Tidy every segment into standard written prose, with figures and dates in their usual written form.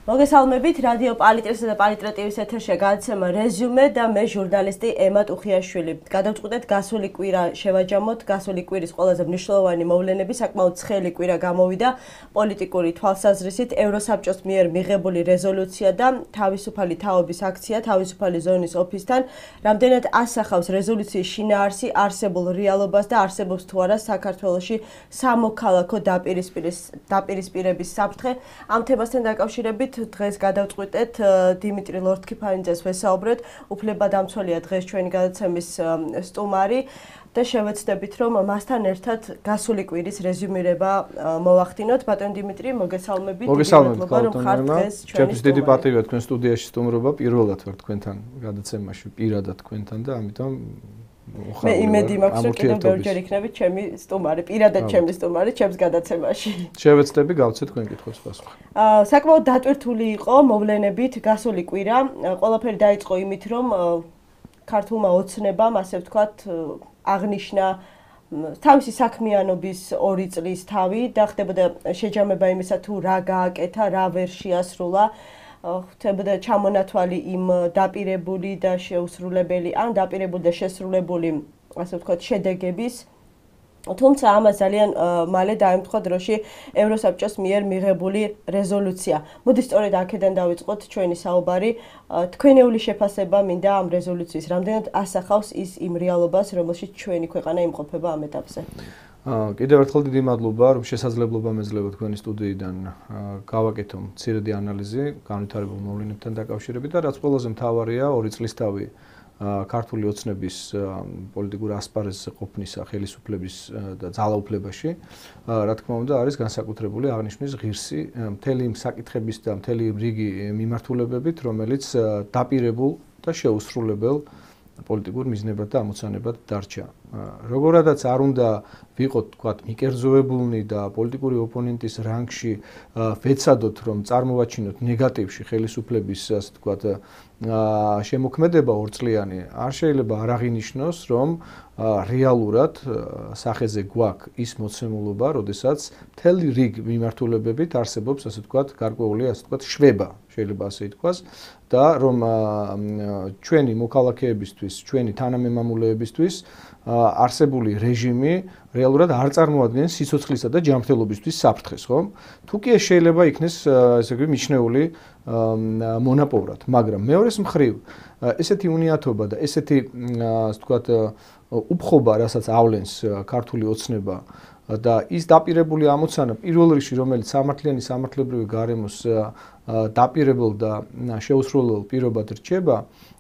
მოგესალმებით რადიო პალიტრესა და პალიტრატივის ეთერში გადაცემა რეზიუმე და მე ჟურნალისტი ემა ტუხიაშვილი. გადავწყვიტეთ გასული კვირა შევაჯამოთ, გასული კვირის ყველაზე მნიშვნელოვანი მოვლენები, საკმაოდ ცხელი კვირა გამოვიდა პოლიტიკური თვალსაზრისით, ევროსაბჭოს მიერ მიღებული რეზოლუცია და თავისუფალი თაობის აქცია თავისუფალი ზონის ოფისთან, რამდენად ასახავს რეზოლუციის შინაარსი არსებულ რეალობას და არსებობს თუ არა საქართველოში სამოქალაქო დაპირისპირების საფრთხე. ამ თემასთან დაკავშირებით დღეს გადავწყვიტეთ დიმიტრი ლორთქიფანიძეს ვესაუბრეთ, უფლებადამცველია დღეს ჩვენი გადაცემის სტუმარი და შევეცდებით რომ მასთან ერთად გასული კვირის რეზიუმირება მოვახდინოთ. ბატონ დიმიტრი, მოგესალმებით. ჩემთვის დიდი პატივია თქვენ სტუდიაში სტუმრობა, პირველად ვარ თქვენთან გადაცემაში, პირადად თქვენთან და ამიტომ მე იმედი მაქვს რომ კიდევ ბევრჯერ იქნებით ჩემი სტუმარი, პირადად ჩემი სტუმარი ჩემს გადაცემაში. შევეცდები გავცეთ თქვენ კითხვებს პასუხი. საკმაოდ დატვირთული იყო მოვლენებით გასული კვირა. ყველაფერი დაიწყო იმით რომ ქართულმა ოცნებამ, ასე ვთქვათ, აღნიშნა თავისი საქმიანობის 2 წლის თავი და ხდებოდა შეჯამება იმისა თუ რა გააკეთა, რა ვერ შეასრულა. ხდებოდა ჩამონათვალი იმ დაპირებული და შეუსრულებელი, ან დაპირებული და შესრულებული, ასე ვთქვათ, შედეგების. თუმცა ამას ძალიან მალე დაემთხვა დროში ევროსაბჭოს მიერ მიღებული რეზოლუცია. მოდი სწორედ აქედან დავიწყოთ ჩვენი საუბარი. თქვენეული შეფასება მინდა ამ რეზოლუციის, რამდენად ასახავს ის იმ რეალობას, რომელშიც ჩვენი ქვეყანა იმყოფება ამ ეტაპზე. კიდევ ერთხელ დიდი მადლობა, რომ შესაძლებლობა მეძლევა თქვენი სტუდიიდან გავაკეთო მცირედი ანალიზი განვითარებულ მოვლენებთან დაკავშირებით და რაც ყველაზე მთავარია 2 წლისთავი ქართული ოცნების პოლიტიკურ ასპარეზზე ყოფნისა ხელისუფლების და ძალაუფლებაში, რა თქმა უნდა, არის განსაკუთრებული აღნიშვნის ღირსი მთელი იმ საკითხების და მთელი რიგი მიმართულებებით, რომელიც დაპირებულ და შეუსრულებელ პოლიტიკურ მიზნებად და ამოცანებად დარჩა. როგორადაც არ უნდა ვიყოთ, თქვათ, მიკერძოებულნი და პოლიტიკური ოპონენტის რანგში ვეცადოთ, რომ წარმოვაჩინოთ ნეგატივში ხელისუფლების, ასე ვთქვათ, შემოქმედება 2 წლიანი, არ შეიძლება არ აღინიშნოს, რომ რეალურად სახეზე გვაქვს ის მოცემულობა, როდესაც მთელი რიგ მიმართულებებით არსებობს, ასე ვთქვათ, გარკვეული, ასე ვთქვათ, შვება, შეიძლება ასე ითქვას, და რომ ჩვენი მოქალაქეებისთვის, ჩვენი თანამემამულეებისთვის არსებული რეჟიმი რეალურად არ წარმოადგენს სიცოცხლისა და ჯანმრთელობისთვის საფრთხეს, ხომ? თუ კი ეს შეიძლება იქნეს, ესე იგი, მიჩნეული მონაპოვრად, მაგრამ მეორეს მხრივ ესეთი უნიათობა და ესეთი, ასე ვთქვათ, უფხობა, რასაც ავლენს ქართული ოცნება და ის დაპირებული ამოცანა პირველ რიგში, რომელიც სამართლიანი სამართლებრივი გარემოს დაპირებულ და შეუსრულებელ პირობად რჩება,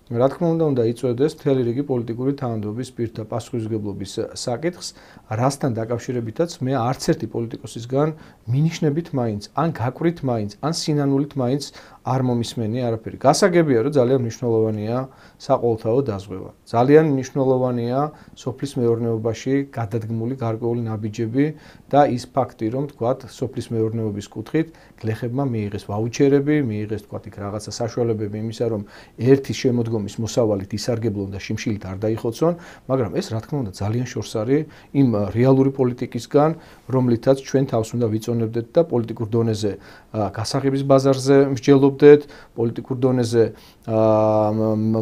რა თქმა უნდა იწვევდეს მთელი რიგი პოლიტიკური თანამდებობის პირთა პასუხისმგებლობის საკითხს, რასთან დაკავშირებითაც მე არც ერთი პოლიტიკოსისგან მინიშნებით მაინც, ან გაკვირით მაინც, ან სინანულით მაინც არ მომისმენი არაფერი. გასაგებია, რომ ძალიან მნიშვნელოვანია საყოველთაო დაზღვევა. ძალიან მნიშვნელოვანია სოფლის მეურნეობაში გადადგმული გარკვეული ნაბიჯები და ის ფაქტი, რომ თქვათ, სოფლის მეურნეობის კუთხით გლეხებმა მიიღეს ვაუჩერები, მიიღეს თქვათ იქ რაღაცა საშუალებები იმისა, რომ ერთი შემოდგომის მოსავალით ისარგებლონ და შიმშილით არ დაიხოცონ, მაგრამ ეს რა თქმა უნდა ძალიან შორს არის იმ რეალური პოლიტიკისგან, რომლითაც ჩვენ თავს უნდა ვიწონებდეთ და პოლიტიკურ დონეზე გასაღების ბაზარზე მსჯელობდეთ, პოლიტიკურ დონეზე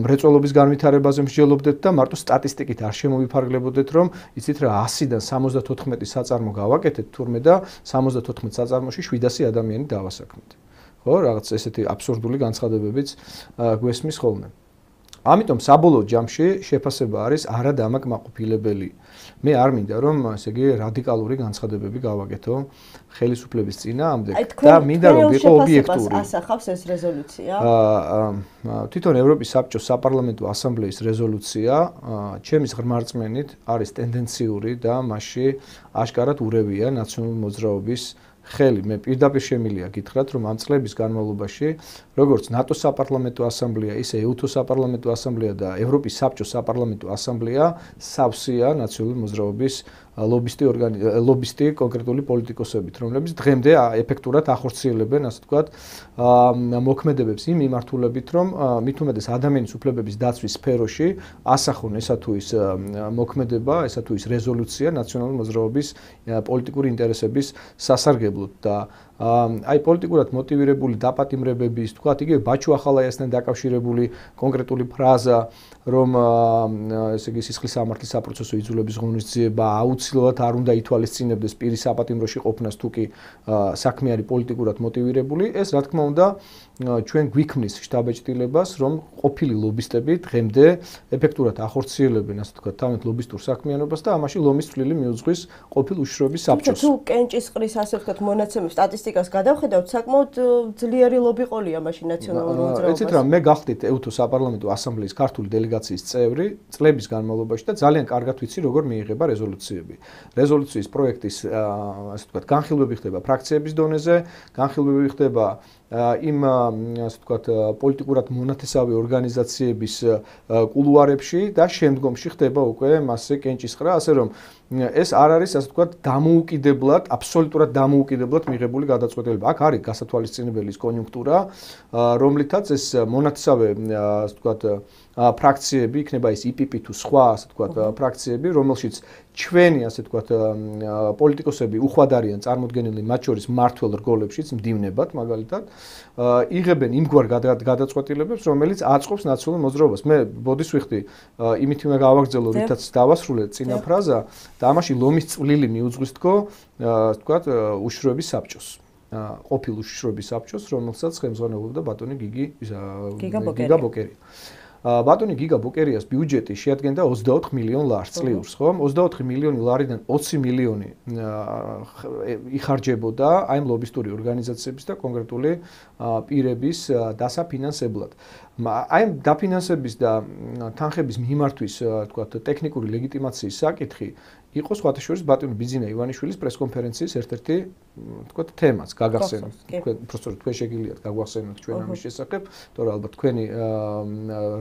მრეწველობის განვითარებაზე მსჯელობდეთ და მარტო სტატისტიკით არ შემოვიფარგლებოდეთ, რომ იცით რა 100-დან 74 საწარმო გავაკეთეთ თურმე და 74 საწარმოში 700 ადამიანი დავასაქმეთ. ხო, რაღაც ესეთი აბსურდული განცხადებებიც გვესმის ხოლმე. ამიტომ საბოლოო ჯამში შეფასება არის არადამაკმაყოფილებელი. მე არ მინდა რომ ესე იგი რადიკალური განცხადებები გავაკეთო ხელისუფლების წინააღმდეგ და მინდა რომ ვიყო ობიექტური. ასახავს ეს რეზოლუცია? თვითონ ევროპის საბჭოს საპარლამენტო ასამბლეის რეზოლუცია ჩემის ღრმა რწმენით არის ტენდენციური და მასში აშკარად ურევია ნაციონალური მოძრაობის ხელი. მე პირდაპირ შემილია გითხრათ, რომ ამ წლების განმავლობაში, როგორც ნატოს საპარლამენტო ასამბლეა, ისე ეუთოს საპარლამენტო ასამბლეა და ევროპის საბჭოს საპარლამენტო ასამბლეა სავსეა ნაციონალური მოძრაობის ლობისტი კონკრეტული პოლიტიკოსებით, რომლებიც დღემდე ეფექტურად ახორციელებენ, ასე ვთქვათ, მოქმედებებს იმ მიმართულებით, რომ მით უმეტეს ადამიანის უფლებების დაცვის სფეროში ასახონ ესა თუ ის მოქმედება, ესა თუ ის რეზოლუცია ნაციონალური მოძრაობის პოლიტიკური ინტერესების სასარგებლოდ და აი პოლიტიკურად მოტივირებული დაპატიმრებების, თქვათ, იგივე ბაჩუ ახალაიასთან დაკავშირებული კონკრეტული ფრაზა, რომ ესე იგი სისხლის სამართლის საპროცესო იძულების ღონისძიება აუცილებლად არ უნდა ითვალისწინებდეს პირის საპატიმროში ყოფნას, თუ კი საქმე არის პოლიტიკურად მოტივირებული, ეს რა თქმა უნდა ჩვენ გვიქმნის შტაბ-ეჭდილებას, რომ ყოფილი ლობისტები დღემდე ეფექტურად ახორციელებენ, ასე ვთქვათ, თავიანთ ლობისტურ საქმიანობას და ამაში ლომის წვლილი მიუძღვის ყოფილ უშიშროების საბჭოს. თუ კენჭისყრის, ასე ვთქვათ, მონაცემის სტატისტიკას გადავხედავთ, საკმაოდ ძლიერი ლობი ყოლია მაშინ ნაციონალურ მოძრაობას. ეცეთ რა, მე გახდით EUTO საპარლამენტო ასამბლეის ქართული დელეგაციის წევრი წლების განმავლობაში და ძალიან კარგად ვიცი, როგორ მიიღება რეზოლუციები. რეზოლუციის პროექტის, ასე ვთქვათ, განხილვები ხდება ფრაქციების დონეზე, განხილვები ხდება იმ ასე ვთქვათ პოლიტიკურად მონათესავე ორგანიზაციების კულუარებში და შემდგომში ხდება უკვე მასზე კენჭისყრა, ასე რომ ეს არ არის ასე ვთქვათ დამოუკიდებლად, აბსოლუტურად დამოუკიდებლად მიღებული გადაწყვეტილება. აქ არის გასათვალისწინებელი კონიუნქტურა, რომლითაც ეს მონათესავე ასე ვთქვათ ფრაქციები, იქნება ის IPP თუ სხვა ასე ვთქვათ ფრაქციები, რომელშიც ჩვენი ასე ვთქვათ პოლიტიკოსები უხვად არიან წარმოდგენილი, მათ შორის მმართველ რგოლებშიც მდივნებად მაგალითად, იღებენ იმგვარ გადაწყვეტილებებს, რომელიც აწყობს ნაციონალურ მოძრაობას. მე ბოდის ვიხდი, იმით უნდა გავაგრძელო, რითაც დავასრულე წინა ფრაზა და ამაში ლომის წვლილი მიუძღვის თქო, ასე ვთქვათ, უშიშროების საბჭოს. ყოფილ უშიშროების საბჭოს, რომელსაც ხელმძღვანელობდა ბატონი გიგა ბოკერი. ბატონი გიგა ბოკერიას ბიუჯეტი შეადგენდა 24 მილიონ ლარს წლიურს, ხო? 24 მილიონი ლარიდან 20 მილიონი იხარჯებოდა აი ამ ლობისტური ორგანიზაციების და კონკრეტული პირების დასაფინანსებლად. აი ამ დაფინანსების და თანხების მიმართვის, თქვათ, ტექნიკური ლეგიტიმაციის საკითხი იყო სხვათა შორის ბატონი ბიძინა ივანიშვილის პრესკონფერენციის ერთ-ერთი, თქვათ, თემაც გაგახსენოთ. უბრალოდ თქვენ შეგიძლიათ გაგვახსენოთ ჩვენ ამის შესახებ, თორე ალბათ თქვენი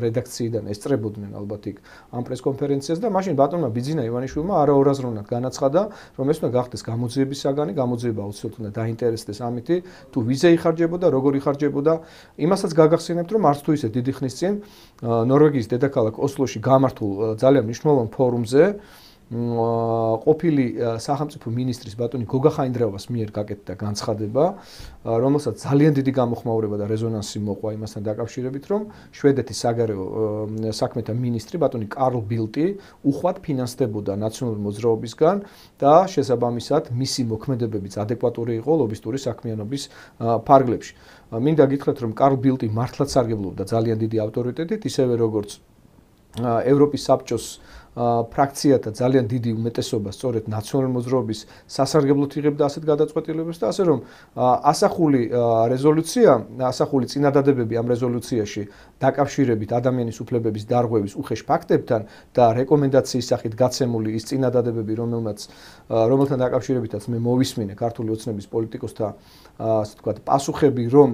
რედაქციიდან ესწრებოდნენ ალბათ იქ ამ პრესკონფერენციას და მაშინ ბატონმა ბიძინა ივანიშვილმა არაორაზროვნად განაცხადა, რომ ეს უნდა გახდეს გამოძიების საგანი, გამოძიება აუცილებლად უნდა დაინტერესდეს ამითი, თუ ვიზა იხარჯებოდა, როგორ იხარჯებოდა. იმასაც გაგახსენებთ, რომ არც თუ ისე დიდი ხნის წინ ნორვეგიის დედაქალაქ ოსლოში გამართულ ძალიან მნიშვნელოვან ფორუმზე ყოფილი სახელმწიფო მინისტრის ბატონი გოგა ხაინდრავას მიერ გაკეთდა განცხადება, რომელსაც ძალიან დიდი გამოხმაურება და რეზონანსი მოყვა იმასთან დაკავშირებით, რომ შვედეთის საგარეო საქმეთა მინისტრი ბატონი კარლ ბილტი უხვად ფინანსდებოდა ნაციონალური მოძრაობისგან და შესაბამისად მისი მოქმედებებიც ადეკვატური იყო ლობისტური საქმიანობის ფარგლებში. მინდა გითხრათ, რომ კარლ ბილტი მართლაც სარგებლობდა ძალიან დიდი ავტორიტეტით, ისევე როგორც ევროპის საბჭოს ფრაქციათა ძალიან დიდი უმეტესობა სწორედ ნაციონალური მოძრაობის სასარგებლოდ იღებდა ასეთ გადაწყვეტილებებს და ასე რომ ასახული რეზოლუცია, ასახული წინადადებები ამ რეზოლუციაში დაკავშირებით ადამიანის უფლებების დარღვევის უხეშ ფაქტებთან და რეკომენდაციის სახით გაცემული ის წინადადებები, რომელთან დაკავშირებითაც მე მოვისმინე ქართული ოცნების პოლიტიკოსთა ასე ვთქვათ პასუხები, რომ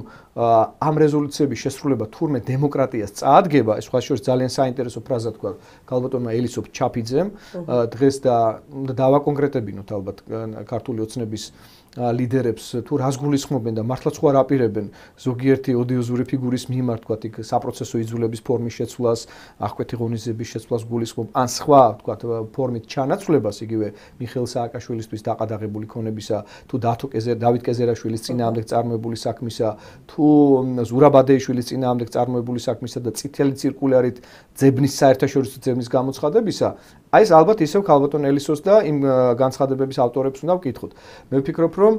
ამ რეზოლუციების შესრულება თურმე დემოკრატიას წაადგება, ეს სხვა შორის ძალიან საინტერესო ფრაზა თქვა ქალბატონმა ელისოფ ჩაფიძემ დღეს და უნდა დავაკონკრეტებინოთ ალბათ ქართული ოცნების ლიდერებს თუ რას გულისხმობენ და მართლაც ხო არ აპირებენ ზოგიერთი ოდიოზური ფიგურის მიმართ თქვათ იქ საპროცესო იძულების ფორმის შეცვლას, აღკვეთი ღონისძიების შეცვლას გულისხმობ ან სხვა თქვათ ფორმით ჩანაცვლებას იგივე მიხეილ სააკაშვილისთვის დაყადაღებული ქონებისა თუ დავით კეზერაშვილის წინააღმდეგ წარმოებული საქმისა თუ ზურაბ ადეიშვილის წინააღმდეგ წარმოებული საქმისა და წითელი цирკულარით ძებნის საერთაშორისო ძებნის გამოცხადებისა აი ეს ალბათ ისევ ქალბატონ ელისოს და იმ განცხადებების ავტორებს უნდა ვკითხოთ. მე ვფიქრობ, რომ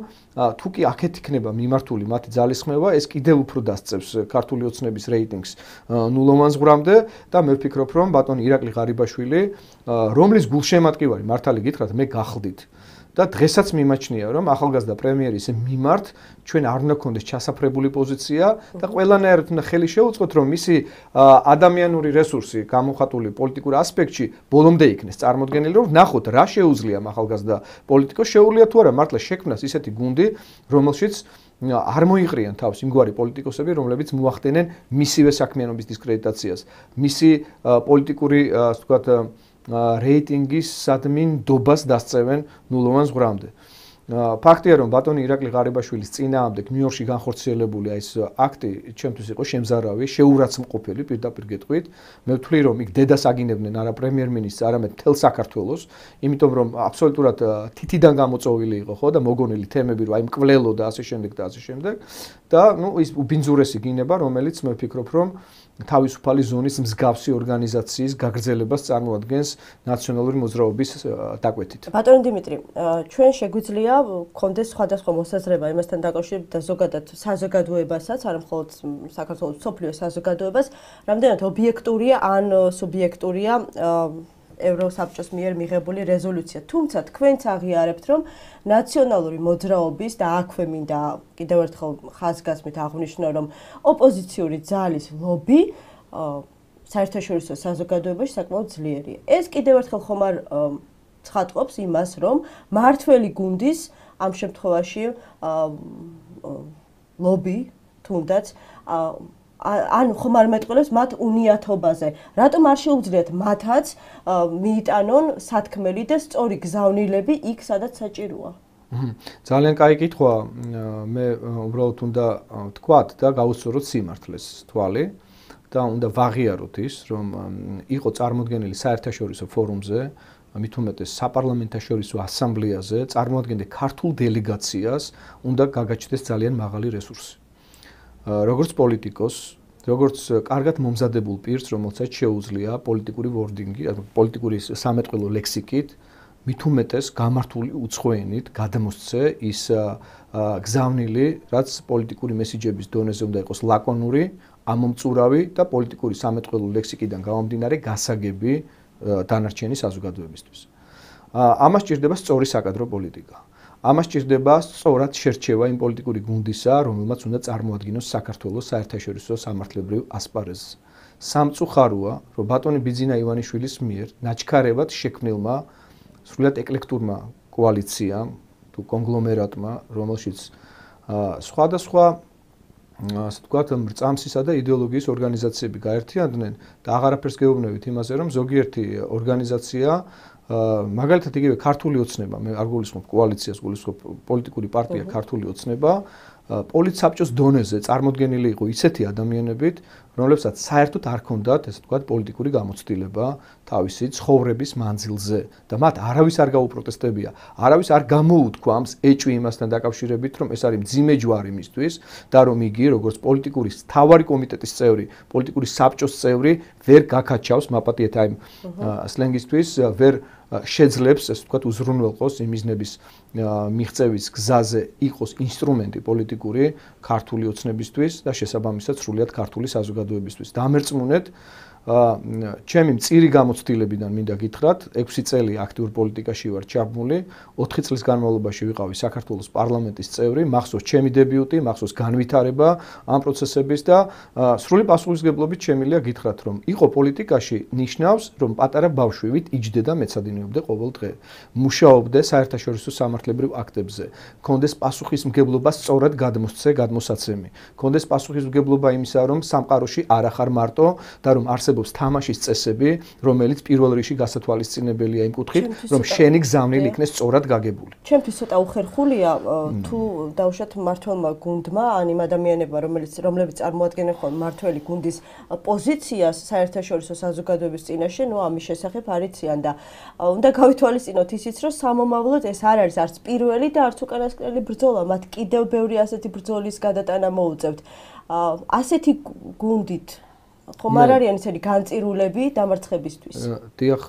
თუ კი აქეთ იქნება მიმართული მათი ძალისხმევა, ეს კიდევ უფრო დასწევს ქართული ოცნების რეიტინგს ნულოვან ზღვრამდე და მე ვფიქრობ, რომ ბატონი ირაკლი ღარიბაშვილი, რომლის გულშემატკივარი მართალი გითხრათ, მე გახდით. და დღესაც მიმაჩნია, რომ ახალგაზრდა პრემიერის მიმართ ჩვენ არ უნდა გქონდეს ჩასაფრებული პოზიცია და ყველანაირად უნდა ხელი შეუწყოთ, რომ მისი ადამიანური რესურსი გამოხატული პოლიტიკურ ასპექტში ბოლომდე იქნეს წარმოდგენილი, რომ ნახოთ რა შეუძლია ახალგაზრდა პოლიტიკოს, შეუძლია თუ არა მართლა შექმნას ისეთი გუნდი, რომელშიც არ მოიყრიან თავს იმგვარი პოლიტიკოსები, რომლებიც მოახდენენ მისივე საქმიანობის დისკრედიტაციას, მისი პოლიტიკური, ასე ვთქვათ, რეიტინგის სადმინ დობას დასწევენ ნულოვან ზღვრამდე. ფაქტია, რომ ბატონი ირაკლი ღარიბაშვილის წინააღმდეგ ნიუ-იორკში განხორციელებული ეს აქტი ჩემთვის იყო შემზარავი, შეურაცხმყოფელი პირდაპირ გეტყვით. მე ვთვლი, რომ იქ დედას აგინებდნენ არა პრემიერ-მინისტრს, არამედ მთელ საქართველოს, იმიტომ რომ აბსოლუტურად თითიდან გამოწოვილი იყო, ხო, და მოგონილი თემები, რომ აი მკვლელო და ასე შემდეგ და ასე შემდეგ. და ის უბინძურესი გინება, რომელიც მე ვფიქრობ, რომ თავისუფალი ზონის მსგავსი ორგანიზაციის გაგრძელებას წარმოადგენს ნაციონალური მოძრაობის დაკვეთით. ბატონო დიმიტრი, ჩვენ შეგვიძლია გქონდეს სხვადასხვა მოსაზრება იმასთან დაკავშირებით და ზოგადად საზოგადოებასაც, არა მხოლოდ საქართველოს მსოფლიო საზოგადოებას, რამდენად ობიექტურია ან სუბიექტურია ევროსაბჭოს მიერ მიღებული რეზოლუცია. თუმცა თქვენც აღიარებთ, რომ ნაციონალური მოძრაობის და აქვე მინდა კიდევ ერთხელ ხაზგასმით აღვნიშნო, რომ ოპოზიციური ძალის ლობი საერთაშორისო საზოგადოებაში საკმაოდ ძლიერია. ეს კიდევ ერთხელ ხომ არ ცხადყოფს იმას, რომ მართველი გუნდის ამ შემთხვევაში ლობი თუნდაც ანუ ხომ არ მეტყველებს მათ უნიათობაზე. რატომ არ შეუძლიათ მათაც მიიტანონ სათქმელი და სწორი გზავნილები იქ, სადაც საჭიროა? ძალიან კაი კითხვა. მე უბრალოდ უნდა ვთქვათ და გავუსწოროთ სიმართლეს თვალი და უნდა ვაღიაროთ ის, რომ იყო წარმოდგენილი საერთაშორისო ფორუმზე, მით უმეტეს საპარლამენტაშორისო ასამბლეაზე, წარმოადგენდა ქართულ დელეგაციას, უნდა გაგაჩნდეს ძალიან მაღალი რესურსი. როგორც პოლიტიკოს, როგორც კარგად მომზადებულ პირს, რომელსაც შეუძლია პოლიტიკური ვორდინგი, პოლიტიკური სამეტყველო ლექსიკით, მით უმეტეს გამართული უცხოენით გადამოსცე ის გზავნილი, რაც პოლიტიკური მესიჯების დონეზე უნდა იყოს ლაკონური, ამომწურავი და პოლიტიკური სამეტყველო ლექსიკიდან გამომდინარე გასაგები დანარჩენი საზოგადოებისთვის. ამას ჭირდება სწორი საკადრო პოლიტიკა. ამას ჭირდება სწორად შერჩევა იმ პოლიტიკური გუნდისა, რომელმაც უნდა წარმოადგინოს საქართველოს საერთაშორისო სამართლებრივ ასპარეზზე. სამწუხაროა, რომ ბატონი ბიძინა ივანიშვილის მიერ ნაჩქარებად შექმნილმა სრულიად ეკლექტურმა კოალიციამ თუ კონგლომერატმა, რომელშიც სხვადასხვა ასე ვთქვათ, მრწამსისა და იდეოლოგიის ორგანიზაციები გაერთიანდნენ და აღარაფერს გეუბნებით იმაზე, რომ ზოგიერთი ორგანიზაცია მაგალითად იგივე ქართული ოცნება, მე არ გულისხმობ კოალიციას, გულისხმობ პოლიტიკური პარტია ქართული ოცნება, პოლიტსაბჭოს დონეზე წარმოდგენილი იყო ისეთი ადამიანებით, რომლებსაც საერთოდ არ ჰქონდათ, ესე ვთქვათ, პოლიტიკური გამოცდილება თავისი ცხოვრების მანძილზე და მათ არავის არ გაუპროტესტებია, არავის არ გამოუთქვამს ეჭვი იმასთან დაკავშირებით, რომ ეს არის მძიმე ჯვარი მისთვის და რომ იგი როგორც პოლიტიკური მთავარი კომიტეტის წევრი, პოლიტიკური საბჭოს წევრი ვერ გაკაჩავს მაპატიეთ აი სლენგისთვის, ვერ შეძლებს, ესე ვთქვათ, უზრუნველყოს იმ მიზნების მიღწევის გზაზე იყოს ინსტრუმენტი პოლიტიკური ქართული ოცნებისთვის და შესაბამისად სრულიად ქართული საზოგადოებისთვის. დამერწმუნეთ, ჩემი მწირი გამოცდილებიდან მინდა გითხრათ, 6 წელი აქტიურ პოლიტიკაში ვარ ჩაბმული, 4 წლის განმავლობაში ვიყავი საქართველოს პარლამენტის წევრი, მახსოვს ჩემი დებიუტი, მახსოვს განვითარება ამ პროცესების და სრული პასუხისმგებლობით შემიძლია გითხრათ, რომ იყო პოლიტიკაში ნიშნავს, რომ პატარა ბავშვივით იჯდე და მეცადინეობდა ყოველ დღე. მუშაობდა საერთაშორისო სამართლებრივ აქტებზე, ჰქონდეს პასუხისმგებლობა სწორად გადმოსცე, გადმოსაცემი. ჰქონდეს პასუხისმგებლობა იმისა, რომ სამყაროში არ ახარ მარტო და რომ არსებობს თამაშის წესები, რომელიც პირველ რიგში გასათვალისწინებელია იმ კუთხით, რომ შენი გზავნილი იქნეს სწორად გაგებული. ჩემთვის ცოტა უხერხულია თუ დავუშვათ მმართველმა გუნდმა, ან იმ ადამიანებმა, რომლებიც წარმოადგენენ ხოლმე მმართველი გუნდის პოზიციას საერთაშორისო საზოგადოების წინაშე, ნუ ამის შესახებ არ იციან და უნდა გავითვალისწინოთ ისიც, რომ სამომავლოდ ეს არ არის არც პირველი და არც უკანასკნელი ბრძოლა, მათ კიდევ ბევრი ასეთი ბრძოლის გადატანა მოუწევთ. ასეთი გუნდით ხომ არ არიან ისეთი განწირულები დამარცხებისთვის? დიახ,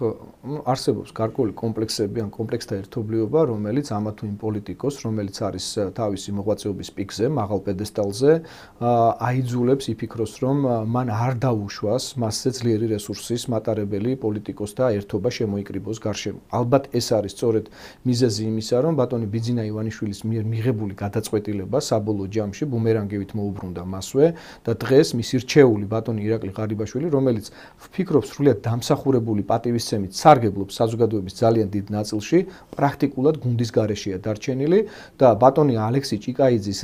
არსებობს გარკვეული კომპლექსები ან კომპლექსთა ერთობლიობა, რომელიც ამა თუ იმ პოლიტიკოს, რომელიც არის თავისი მოღვაწეობის პიკზე, მაღალ პედესტალზე, აიძულებს იფიქროს, რომ მან არ დაუშვას მასზე ძლიერი რესურსის მატარებელი პოლიტიკოსთა ერთობა შემოიკრიბოს გარშემო. ალბათ ეს არის სწორედ მიზეზი იმისა, რომ ბატონი ბიძინა ივანიშვილის მიერ მიღებული გადაწყვეტილება საბოლოო ჯამში ბუმერანგივით მოუბრუნდა მასვე და დღეს მისი რჩეული ბატონი ირაკლი ღარიბაშვილი, რომელიც ვფიქრობ სრულიად დამსახურებული პატივისცემით სარგებლობს საზოგადოების ძალიან დიდ ნაწილში, პრაქტიკულად გუნდის გარეშეა დარჩენილი და ბატონი ალექსი ჭიკაიძის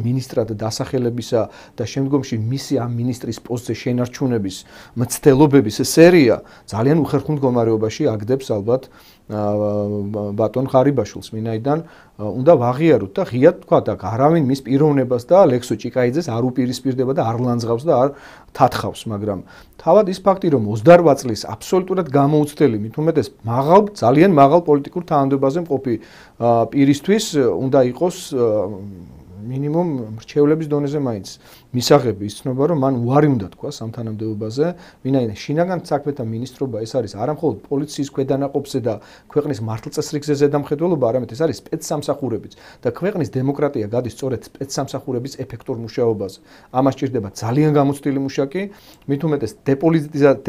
მინისტრად დასახელებისა და შემდგომში მისი ამ მინისტრის პოსტზე შენარჩუნების მცდელობების სერია ძალიან უხერხულ მდგომარეობაში აგდებს ალბათ ბატონ ღარიბაშვილს, ვინაიდან უნდა ვაღიაროთ და ღიად თქვა და არავინ მის პიროვნებას და ლექსო ჭიკაიძეს არ უპირისპირდება და არ ლანძღავს და არ თათხავს, მაგრამ თავად ის ფაქტი, რომ 28 წლის აბსოლუტურად გამოუცდელი, მით უმეტეს ძალიან მაღალ პოლიტიკურ თანამდებობაზე მყოფი პირისთვის უნდა იყოს მინიმუმ მრჩევლების დონეზე მაინც მისაღები იცნობა, რომ მან უარი უნდა თქვა სამთანამდებობაზე, ვინაიდან შინაგან საქმეთა მინისტრობა ეს არის არა მხოლოდ პოლიციის ქვედანაყოფზე და ქვეყნის მართლწესრიგზე ზედამხედველობა, არამედ ეს არის სპეცსამსახურებიც და ქვეყნის დემოკრატია გადის სწორედ სპეცსამსახურების ეფექტურ მუშაობაზე. ამას სჭირდება ძალიან გამოცდილი მუშაკი, მით უმეტეს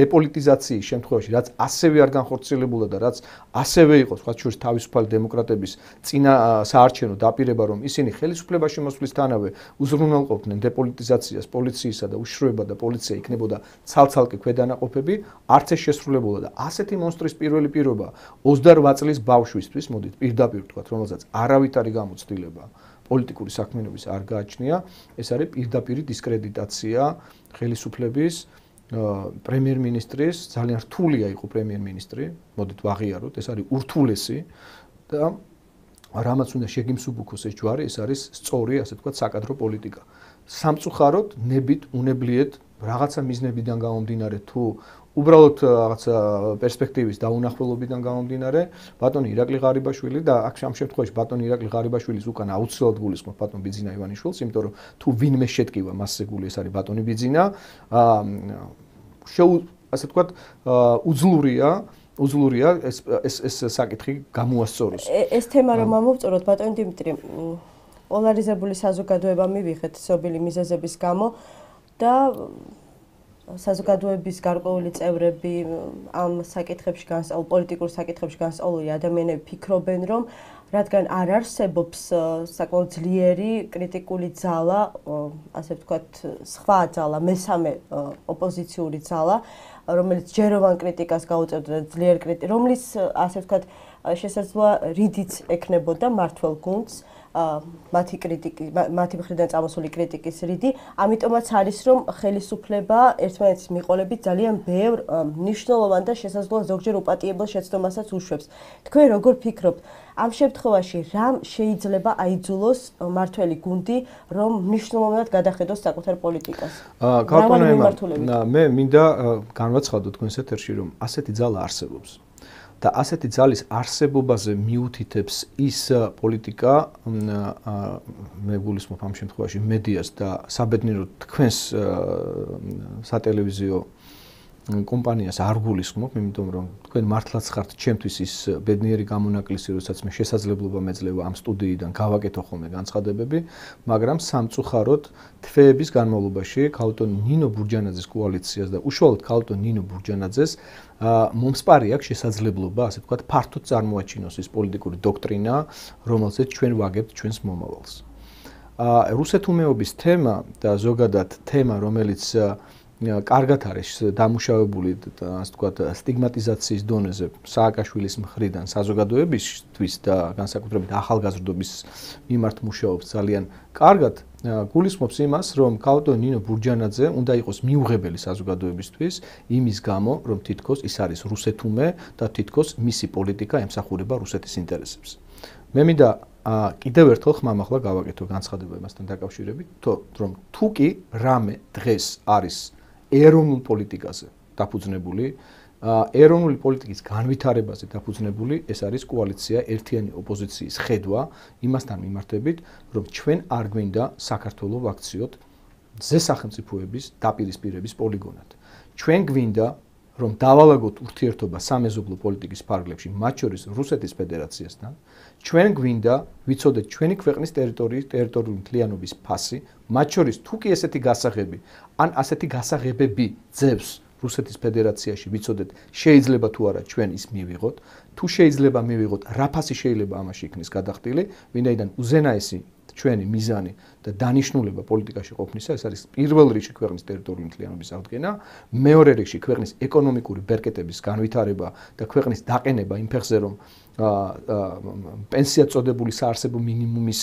დეპოლიტიზაციის შემთხვევაში, რაც ასევე არ განხორციელებულა და რაც ასევე იყო, სხვა შორის თავისუფალი დემოკრატების წინა საარჩევნო დაპირება, რომ ისინი ხელისუფლებაში მოსვლისთანავე უზრუნველყოფდნენ დეპოლიტიზაციას, პოლიციისა და უშიშროება და პოლიცია იქნებოდა ცალ-ცალკე ქვედანაყოფები, არც ეს შესრულებულა და ასეთი მონსტრის პირველი პირობა 28 წლის ბავშვისთვის, მოდით პირდაპირ ვთქვათ, რომელსაც არავითარი გამოცდილება პოლიტიკური საქმიანობის არ გააჩნია, ეს არის პირდაპირი დისკრედიტაცია ხელისუფლების პრემიერ-მინისტრის, ძალიან რთულია იყო პრემიერ-მინისტრი, მოდით ვაღიაროთ, ეს არის ურთულესი და რამაც უნდა შეგიმსუბუქოს ეს ჯვარი, ეს არის სწორი, ასე ვთქვათ, საკადრო პოლიტიკა. სამწუხაროდ, ნებით, უნებლიეთ, რაღაცა მიზნებიდან გამომდინარე თუ უბრალოდ რაღაცა პერსპექტივის დაუნახველობიდან გამომდინარე, ბატონი ირაკლი ღარიბაშვილი და აქ ამ შემთხვევაში ბატონი ირაკლი ღარიბაშვილის უკან აუცილებლად გულისხმობ ბატონ ბიძინა ივანიშვილს, იმიტომ რომ თუ ვინმე შეტკივა მასზე გული, ეს არის ბატონი ბიძინა, ასე ვთქვათ, უძლურია ეს საკითხი გამოასწოროს. ეს თემა რომ ამოვწოროთ, ბატონი დიმიტრი, პოლარიზებული საზოგადოება მივიღეთ ცნობილი მიზეზების გამო და საზოგადოების გარკვეული წევრები ამ საკითხებში პოლიტიკურ საკითხებში განსწავლული ადამიანები ფიქრობენ, რომ რადგან არ არსებობს საკმაოდ ძლიერი კრიტიკული ძალა, ასე ვთქვათ, სხვა ძალა, მესამე ოპოზიციური ძალა, რომელიც ჯეროვან კრიტიკას გაუწევდა და ძლიერ რომლის, ასე ვთქვათ, შესაძლოა რიდიც ექნებოდა მართველ გუნდს, მათი მხრიდან წამოსული კრიტიკის რიდი, ამიტომაც არის, რომ ხელისუფლება ერთმანეთის მიყოლებით ძალიან ბევრ მნიშვნელოვან და შესაძლოა ზოგჯერ უპატიებელ შეცდომასაც უშვებს. თქვენ როგორ ფიქრობთ, ამ შემთხვევაში რამ შეიძლება აიძულოს მართველი გუნდი, რომ მნიშვნელოვნად გადახედოს საკუთარ პოლიტიკას? მე მინდა განვაცხადო თქვენს ეთერში, რომ ასეთი ძალა არსებობს. და ასეთი ძალის არსებობაზე მიუთითებს ის პოლიტიკა, მე გულისხმობ ამ შემთხვევაში მედიას და საბედნიეროდ თქვენს სატელევიზიო კომპანიას არ გულისხმობ, იმიტომ რომ თქვენ მართლაც ხართ ჩემთვის ის ბედნიერი გამონაკლისი, როდესაც მე შესაძლებლობა მეძლევა ამ სტუდიიდან გავაკეთო ხოლმე განცხადებები, მაგრამ სამწუხაროდ თვეების განმავლობაში ქალბატონ ნინო ბურჯანაძის კოალიციას და უშუალოდ ქალბატონ ნინო ბურჯანაძეს მომსპარი აქვს შესაძლებლობა, ასე ვთქვათ, ფართოდ წარმოაჩინოს ის პოლიტიკური დოქტრინა, რომელზეც ჩვენ ვაგებთ ჩვენს მომავალს. რუსეთუმეობის თემა და ზოგადად თემა, რომელიც კარგად არის დამუშავებული, ასე ვთქვათ, სტიგმატიზაციის დონეზე სააკაშვილის მხრიდან საზოგადოებისთვის და განსაკუთრებით ახალგაზრდობის მიმართ მუშაობს ძალიან კარგად. გულისხმობს იმას, რომ ქალბატონ ნინო ბურჯანაძე უნდა იყოს მიუღებელი საზოგადოებისთვის, იმის გამო, რომ თითქოს ის არის რუსეთუმე და თითქოს მისი პოლიტიკა ემსახურება რუსეთის ინტერესებს. მე მინდა კიდევ ერთხელ ხმამაღლა გავაკეთო განცხადება იმასთან დაკავშირებით, რომ თუ კი რამე დღეს არის ეროვნულ პოლიტიკაზე დაფუძნებული, ეროვნული პოლიტიკის განვითარებაზე დაფუძნებული, ეს არის კოალიცია ერთიანი ოპოზიციის ხედვა იმასთან მიმართებით, რომ ჩვენ არ გვინდა საქართველოს ვაქციოთ ზესახელმწიფოების დაპირისპირების პოლიგონად. ჩვენ გვინდა რომ დავალაგოთ ურთიერთობა სამეზობლო პოლიტიკის ფარგლებში, მათ შორის რუსეთის ფედერაციასთან, ჩვენ გვინდა ვიცოდეთ ჩვენი ქვეყნის ტერიტორიული მთლიანობის ფასი, მათ შორის თუ კი ესეთი გასაღები, ან ასეთი გასაღებები ძევს რუსეთის ფედერაციაში ვიცოდეთ შეიძლება თუ არა ჩვენ ის მივიღოთ, თუ შეიძლება მივიღოთ, რა ფასი შეიძლება ამაში იქნეს გადახდილი, ვინაიდან უზენაესი ჩვენი მიზანი და დანიშნულება პოლიტიკაში ყოფნისა, ეს არის პირველ რიგში ქვეყნის ტერიტორიული მთლიანობის აღდგენა, მეორე რიგში ქვეყნის ეკონომიკური ბერკეტების განვითარება და ქვეყნის დაყენება იმ ფეხზე, რომ პენსია წოდებული საარსებო მინიმუმის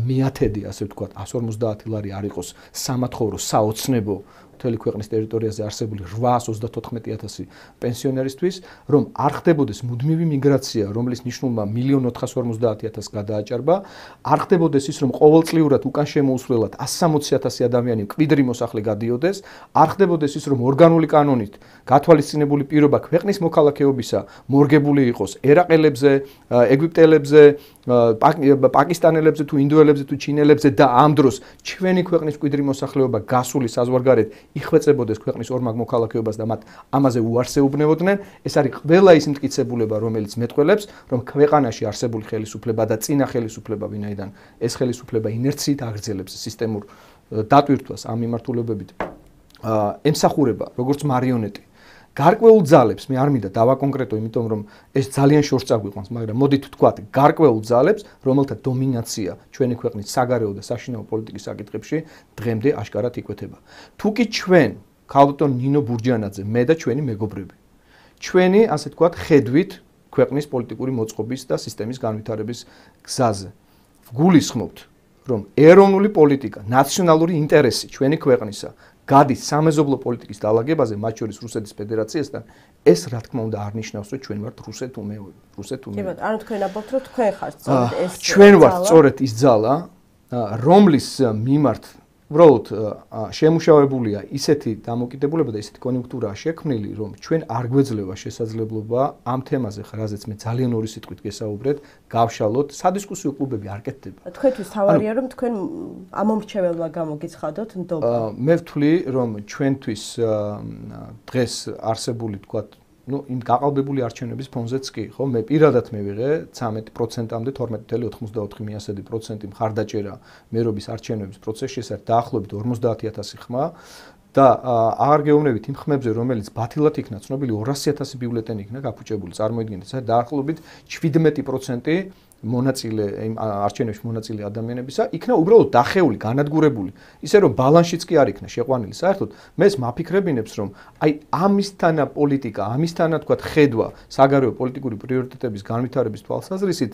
მეათედი, ასე ვთქვათ, 150 ლარი არ იყოს სამათხოვრო, საოცნებო მთელი ქვეყნის ტერიტორიაზე არსებული 834,000 პენსიონერისთვის, რომ არ ხდებოდეს მუდმივი მიგრაცია, რომლის ნიშნულმა 1,450,000 გადააჭარბა, არ ხდებოდეს ის, რომ ყოველწლიურად უკან შემოუსვლელად 160,000 ადამიანი მკვიდრი მოსახლე გადიოდეს, არ ხდებოდეს ის, რომ ორგანული კანონით გათვალისწინებული პირობა ქვეყნის მოქალაქეობისა მორგებული იყოს ერაყელებზე, ეგვიპტელებზე, პაკისტანელებზე თუ ინდოელებზე თუ ჩინელებზე და ამ დროს ჩვენი ქვეყნის მკვიდრი მოსახლეობა გასული საზღვარგარეთ იხვეწებოდეს ქვეყნის ორმაგ მოქალაქეობას და მათ ამაზე უარს ეუბნებოდნენ. ეს არის ყველა ის მტკიცებულება, რომელიც მეტყველებს, რომ ქვეყანაში არსებული ხელისუფლება და წინა ხელისუფლება, ვინაიდან ეს ხელისუფლება ინერციით აგრძელებს სისტემურ დატვირთვას ამ მიმართულებებით, ემსახურება როგორც მარიონეტი გარკვეულ ძალებს, მე არ მინდა დავაკონკრეტო, იმიტომ რომ ეს ძალიან შორს წაგვიყვანს, მაგრამ მოდით ვთქვათ, გარკვეულ ძალებს, რომელთა დომინაცია ჩვენი ქვეყნის საგარეო და საშინაო პოლიტიკის საკითხებში დღემდე აშკარად იკვეთება. თუ კი ჩვენ, ქალბატონ ნინო ბურჯანაძე, მე და ჩვენი მეგობრები, ჩვენი, ასე ვთქვათ, ხედვით ქვეყნის პოლიტიკური მოწყობის და სისტემის განვითარების გზაზე ვგულისხმობთ, რომ ეროვნული პოლიტიკა, ნაციონალური ინტერესი ჩვენი ქვეყნისა გადის სამეზობლო პოლიტიკის დალაგებაზე, მათ შორის რუსეთის ფედერაციასთან, ეს რა თქმა უნდა არ ნიშნავს, რომ ჩვენ ვართ რუსეთუმეები. კი ბატონო, ანუ თქვენ ამბობთ, რომ თქვენ ხართ სწორედ ეს ჩვენ ვართ სწორედ ის ძალა, რომლის მიმართ უბრალოდ შემუშავებულია ისეთი დამოკიდებულება და ისეთი კონიუნქტურაა შექმნილი, რომ ჩვენ არ გვეძლევა შესაძლებლობა ამ თემაზე, რაზეც მე ძალიან ორი სიტყვით გესაუბრეთ, გავშალოთ, სადისკუსიო კლუბები არ კეთდება. თქვენთვის თავარია, რომ თქვენ ამომრჩეველმა გამოგიცხადოთ ნდობა. მე ვთვლი, რომ ჩვენთვის დღეს არსებული, თქვათ, იმ გაყალბებული არჩევნების ფონზეც კი, ხო, მე პირადად მივიღე 13%-ამდე 12.84% მხარდაჭერა მერობის არჩევნების პროცესში, ეს არის დაახლოებით 50,000 ხმა და აღარ გეუბნებით იმ ხმებზე, რომელიც ბათილად იქნა ცნობილი 200,000 ბიულეტენი იქნა გაფუჭებული, წარმოიდგინეთ, ეს არის დაახლოებით 17% მონაწილე იმ არჩევნებში მონაწილე ადამიანებისა იქნა უბრალოდ დახეული, განადგურებული, ისე რომ ბალანსშიც კი არ იქნა შეყვანილი. საერთოდ მე ეს მაფიქრებინებს, რომ აი ამისთანა პოლიტიკა, ამისთანა თქვათ ხედვა საგარეო პოლიტიკური პრიორიტეტების განვითარების თვალსაზრისით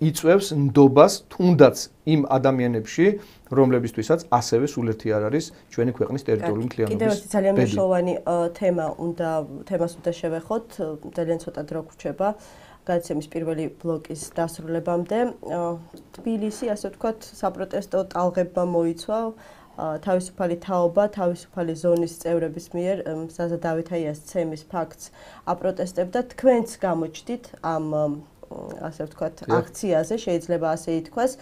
იწვევს ნდობას თუნდაც იმ ადამიანებში, რომლებისთვისაც ასევე სულერთი არ არის ჩვენი ქვეყნის ტერიტორიული მთლიანობის. კიდევ ერთი ძალიან მნიშვნელოვანი თემას უნდა შევეხოთ, ძალიან ცოტა დრო გვრჩება. გადაცემის პირველი ბლოკის დასრულებამდე თბილისი, ასე ვთქვათ, საპროტესტო ტალღებმა მოიცვა თავისუფალი თაობა, თავისუფალი ზონის წევრების მიერ ზაზა დავითაიას ცემის ფაქტს აპროტესტებდა. თქვენც გამოჩდით ამ, ასე ვთქვათ, აქციაზე, შეიძლება ასე ითქვას.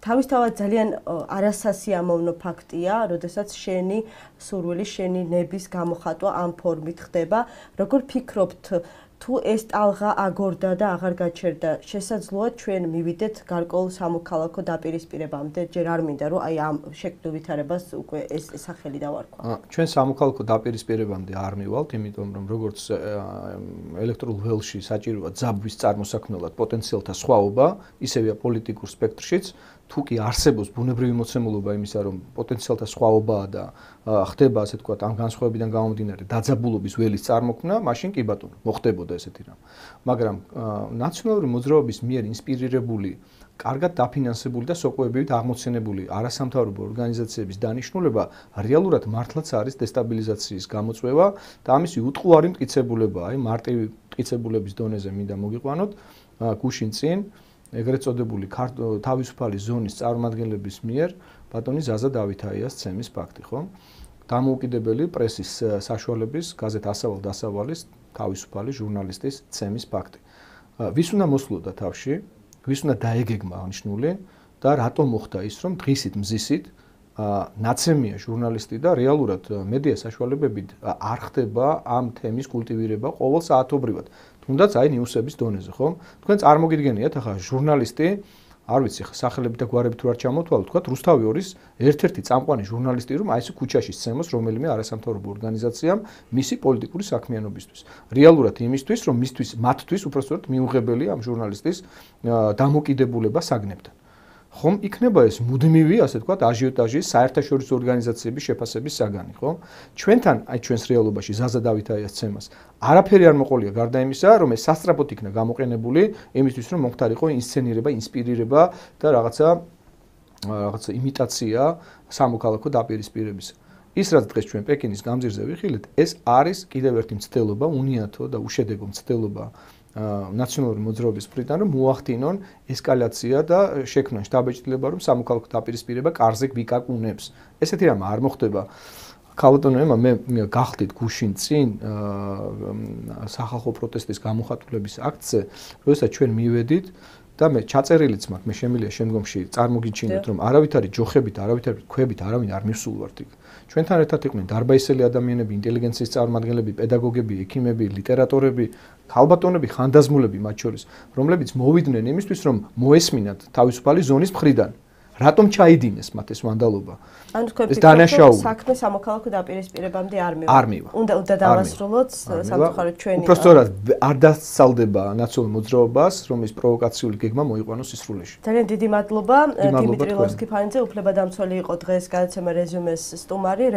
თავისთავად ძალიან არასასიამოვნო ფაქტია, როდესაც შენი სურვილი, შენი ნების გამოხატვა ამ ფორმით ხდება. როგორ ფიქრობთ, თუ ეს ტალღა აგორდა და აღარ გაჩერდა, შესაძლოა ჩვენ მივიდეთ გარკვეულ სამოქალაქო დაპირისპირებამდე, ჯერ არ მინდა რომ აი ამ შექმნილ ვითარებას უკვე ეს სახელი დავარქვა. ჩვენ სამოქალაქო დაპირისპირებამდე არ მივალთ, იმიტომ რომ როგორც ელექტრულ ველში საჭიროა ძაბვის წარმოსაქმნელად პოტენციალთა სხვაობა, ისევეა პოლიტიკურ სპექტრშიც, თუ კი არსებობს ბუნებრივი მოცემულობა იმისა, რომ პოტენციალთა სხვაობაა და ხდება, ასე ვთქვათ, ამ განსხვავებიდან გამომდინარე დაძაბულობის ველის წარმოქმნა, მაშინ კი ბატონო, მოხდებოდა ესეთი რამ. მაგრამ ნაციონალური მოძრაობის მიერ ინსპირირებული, კარგად დაფინანსებული და სოკოებივით აღმოცენებული არასამთავრობო ორგანიზაციების დანიშნულება რეალურად მართლაც არის დესტაბილიზაციის გამოწვევა და ამისი უტყუარი მტკიცებულებაა, აი მარტივი მტკიცებულების დონეზე მინდა მოგიყვანოთ გუშინ წინ ეგრეთ წოდებული თავისუფალი ზონის წარმომადგენლების მიერ ბატონი ზაზა დავითაიას ცემის ფაქტი, ხო? დამოუკიდებელი პრესის საშუალების გაზეთ ასავალ დასავალის თავისუფალი ჟურნალისტის ცემის ფაქტი. ვის უნდა მოსვლოდა თავში, ვის უნდა დაეგეგმა აღნიშნული და რატომ მოხდა ის, რომ დღისით მზისით ნაცემია ჟურნალისტი და რეალურად მედია საშუალებებით არ ხდება ამ თემის კულტივირება ყოველ საათობრივად. თუნდაც აი ნიუსების დონეზე, ხო? თქვენ წარმოგიდგენიათ ახლა ჟურნალისტი, არ ვიცი, სახელები და გვარები თუ არ ჩამოთვალოთ, თქვა რუსთავი 2-ის ერთ-ერთი წამყვანი ჟურნალისტი, რომ აი ეს ქუჩაში სცემოს რომელიმე არასამთავრობო ორგანიზაციამ მისი პოლიტიკური საქმიანობისთვის. რეალურად იმისთვის, რომ მათთვის უпростоრად მიუღებელი ამ ჟურნალისტის დამოკიდებულება საგნებთან. ხომ იქნება ეს მუდმივი, ასე ვთქვათ, აჟიოტაჟის საერთაშორისო ორგანიზაციების შეფასების საგანი, ხო? ჩვენთან, აი ჩვენს რეალობაში ზაზა დავითაიას ცემას არაფერი არ მოყოლია გარდა იმისა, რომ ეს სასწრაფოდ იქნა გამოყენებული იმისთვის, რომ მომხდარიყო ინსცენირება, ინსპირირება და რაღაცა იმიტაცია სამოქალაქო დაპირისპირებისა. ის რაც დღეს ჩვენ პეკინის გამზირზე ვიხილეთ, ეს არის კიდევ ერთი მცდელობა, უნიათო და უშედეგო მცდელობა ნაციონალური მოძრაობის მხრიდან, რომ მოახდინონ ესკალაცია და შექმნან შტაბ-ბიჭდილება, რომ სამოქალაქო დაპირისპირება კარზე ვიკაკუნებს. ესეთი რამ არ მოხდება. ქალბატონო, მე გახდით გუშინ წინ სახალხო პროტესტის გამოხატულების აქტზე, როდესაც ჩვენ მივედით და მე ჩაწერილიც მაქვს, მე შემიძლია შემდგომში წარმოგიჩინოთ, რომ არავითარი ჯოხებით, არავითარი ქვებით არავინ არ მივსულვართ იქ. ჩვენთან ერთად იყვნენ დარბაისელი ადამიანები, ინტელიგენციის წარმომადგენლები, პედაგოგები, ექიმები, ლიტერატორები, ქალბატონები, ხანდაზმულები მათ შორის, რომლებიც მოვიდნენ იმისთვის, რომ მოესმინათ თავისუფალი ზონის მხრიდან. რატომ ჩაიდინეს მათ ეს ვანდალობა? ანუ თქვენ ფიქრობთ, საქმე სამოქალაქო დაპირისპირებამდე არ მივა. უნდა დავასრულოთ სამწუხაროდ ჩვენი. უბრალოდ არ დასწალდება ნაციონალურ მოძრაობას, რომ ეს პროვოკაციული გეგმა მოიყვანოს სისრულეში. ძალიან დიდი მადლობა. დიმიტრი ლოსკი-ფანიძე, უფლებადამცველი იყო დღეს გადაცემა რეზიუმეს სტუმარი.